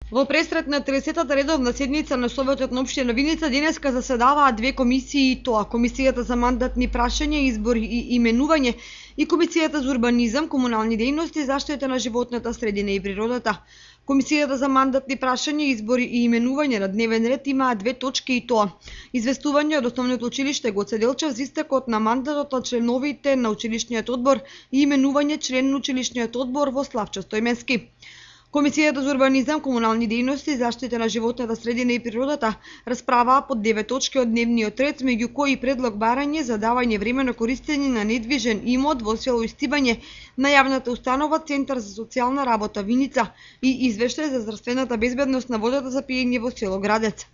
Во пресрет на 30-та редовна седница на Советот на општина Виница денеска заседаваа две комисии, и тоа Комисијата за мандатни прашања, избори и именување и Комисијата за урбанизам, комунални дејности, заштита на животната средина и природата. Комисијата за мандатни прашања, избори и именување на дневен ред имаа две точки, и тоа известување од Основното училиште Гоце Делчев за истекот на мандатот на членовите на училишниот одбор и именување член на училишниот одбор во Славчо Стојменски. Комисијата за урбанизам, комунални дејности и заштита на животната средина и природата расправаа по 9 точки од дневниот ред, меѓу кои предлог барање за давање времено користење на недвижен имот во село Истибање на јавната установа Центар за социјална работа Виница и извештај за здравствената безбедност на водата за пиење во село Градец.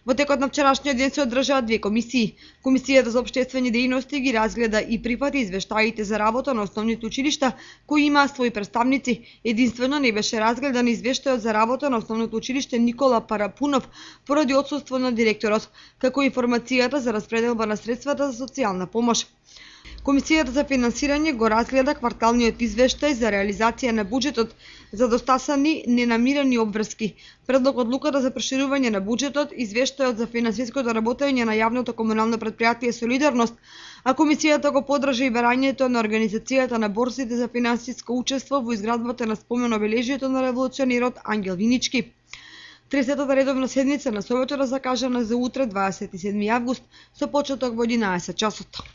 Во текот на вчерашниот ден се одржаа две комисии. Комисијата за општествени дејности ги разгледа и прифати извештаите за работа на основните училишта кои имаа своји представници. Единствено не беше разгледан извештајот за работа на Основното училиште Никола Парапунов поради отсуство на директорот, како и информацијата за распределба на средствата за социјална помош. Комисијата за финансирање го разгледа кварталниот извештај за реализација на буџетот за достасани ненамирени обврски, предлог одлуката за проширување на буџетот, извештајот за финансиското работење на јавното комунално претпријатие Солидарност, а комисијата го поддржа и барањето на организацијата на борсите за финансиско учество во изградбата на спомен обележието на револуционерот Ангел Винички. 30-та редовна седница на Советот е закажана за утре 27 август со почеток во 11 часот.